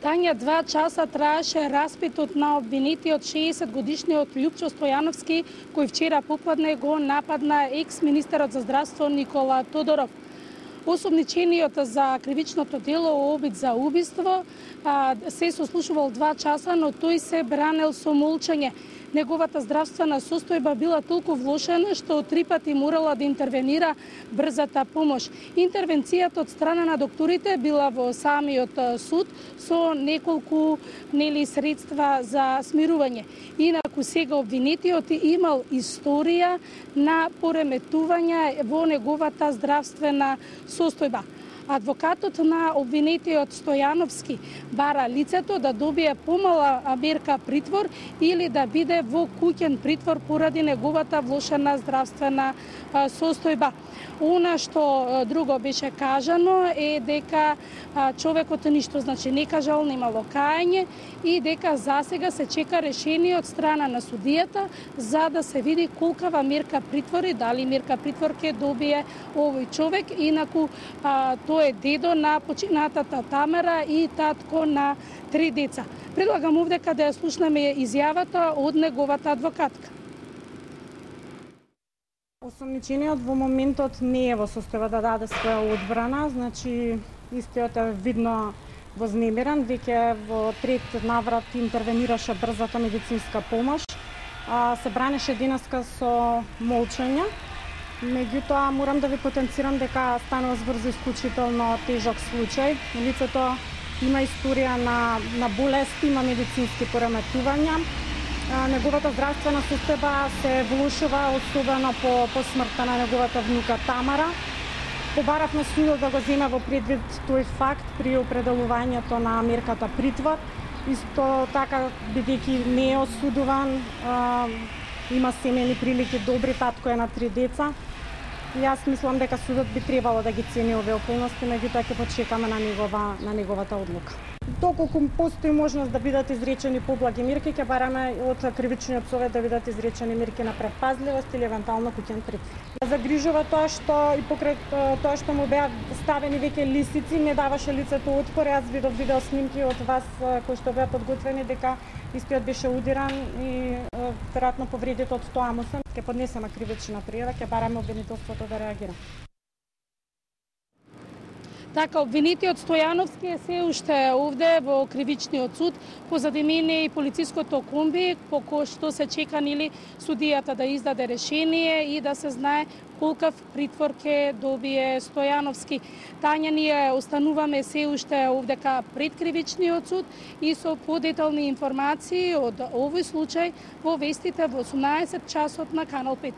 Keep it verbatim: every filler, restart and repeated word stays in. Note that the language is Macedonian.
Тања, два часа траеше распитот на обвинетиот шеесет годишниот Љупчо Стојановски, кој вчера попладне го нападна екс-министерот за здравство Никола Тодоров. Осомничениот за кривичното дело обид за убиство се сослушувал два часа, но тој се бранел со молчање. Неговата здравствена состојба била толку влошена што три пати морала да интервенира брзата помош. Интервенцијата од страна на докторите била во самиот суд со неколку нели средства за смирување. Инаку сега обвинетиот имал историја на пореметување во неговата здравствена состојба. Адвокатот на обвинетиот Стојановски бара лицето да добие помала мерка притвор или да биде во куќен притвор поради неговата влошена здравствена состојба. Она што друго беше кажано е дека човекот ништо значи не кажал, немало кајање и дека засега се чека решение од страна на судијата за да се види колкава мерка притвор и дали мерка притвор ќе добие овој човек. Инаку тој е дедо на починатата Тамара и татко на три деца. Предлагам овде каде ја слушнеме изјавата од неговата адвокатка. Осомничениот во моментот не е во состојба да даде своја одбрана, значи истиот е видно вознемирен, веќе во трет наврат интервенираше брзата медицинска помош, а се бранеше денеска со молчање. Меѓутоа морам да ви потенцирам дека станува збор за исклучително тежок случај. Лицето има историја на, на болести, има медицински пореметувања. Неговата здравствена состојба се влошува, особено по, по смртта на неговата внука Тамара. Побаравме судот да го земе во предвид тој факт при определувањето на мерката притвор. Исто така, бидејќи не е осудуван, а, има семејни прилики добри, татко е на три деца. И јас мислам дека судот би требало да ги цени овие околности, меѓутоа ќе почекаме на негова на неговата одлука. Доколку постои можност да бидат изречени поблаги мерки, ќе бараме од кривичниот совет да бидат изречени мерки на предпазливост или евентуално куќен притвор. Загрижува тоа што и покрај тоа што му беа ставени веќе лисици, не даваше лицето отпор. Јас видов видео снимки од вас кои што беа подготвени дека истиот беше удиран и веројатно повредите од тоа му се. Ќе поднесеме кривична пријава, ќе бараме обвинителството да реагира. Така, обвинетиот Стојановски е се уште овде во кривичниот суд. Позади мене и полициското комби, по кој што се чека нели судијата да издаде решение и да се знае колкав притвор ќе добие Стојановски. Тања, ние остануваме се уште овдека пред кривичниот суд и со подетални информации од овој случај во вестите во осумнаесет часот на Канал пет.